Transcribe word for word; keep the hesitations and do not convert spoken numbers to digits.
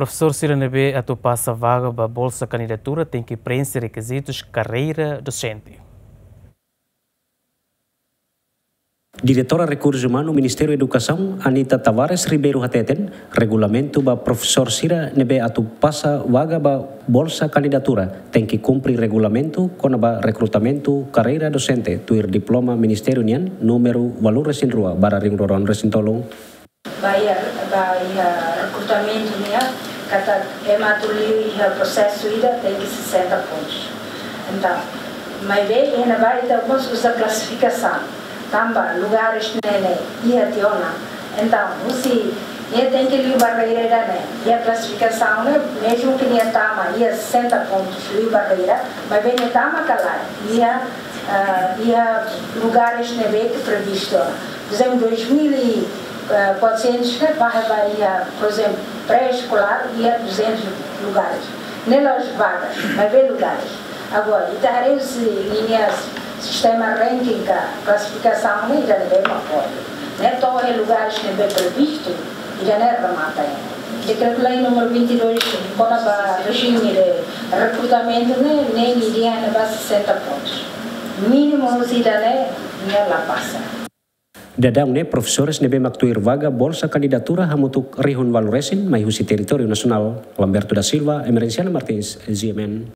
Profesór sira ne'ebé atu pasa vaga ba bolsa kandidatura tenke preenxe rekizitus karreira dosente. Diretora Rekursu Umanu Ministériu Edukasaun, Anita Tavares Ribeiro hateten, regulamentu ba profesór sira ne'ebé atu pasa vaga ba bolsa kandidatura tenke kumpre regulamentu kona-ba rekrutamentu karreira dosente tuir diploma ministériu nian númeru ualu resin rua barra rihun rua ruan resin tolu. Ba iha, ba iha rekrutamentu nian, katak ema atu liu iha prosesu ida tenke sesenta pontus. Entaun, maibé iha ne'ebá ita mós uza klasifikasaun. Tanba lugares ne'e ne'e iha tiha ona. Entaun, husi nia tenke liu barreira ida-ne'e. Iha klasifikasaun ne'e, mezmu ke nia tama iha sesenta pontus liu barreira, maibé nia tama ka lae iha, ah, iha lugares ne'ebé ke previstu ona. Por ezemplu, dois mil e quatrocentos ne'e ba, ba iha, por ezemplu, pré-eskolár iha duzentos lugares. Ne'e la'ós vagas, maibé lugares. Agora, ita haree husi ninia sistema ranking ka klasifikasaun ne'e ida-ne'ebé mak pode. Ne'e to'o iha lugares ne'ebé previstu, ida-ne'e remata. Dekretu-lei númeru vinte e dois, kona-ba rejime de rekrutamentu ne'e, ne'e nia iha ne'ebá sesenta pontus. Mínimu husi ida-ne'e, nia la pasa. Daudaun ne'e profesores ne'ebé mak tuir vaga bolsa kandidatura hamutuk rihun ualu resin mai husi territóriu nasionál. Lamberto da Silva, Emerenciana Martins, G M N.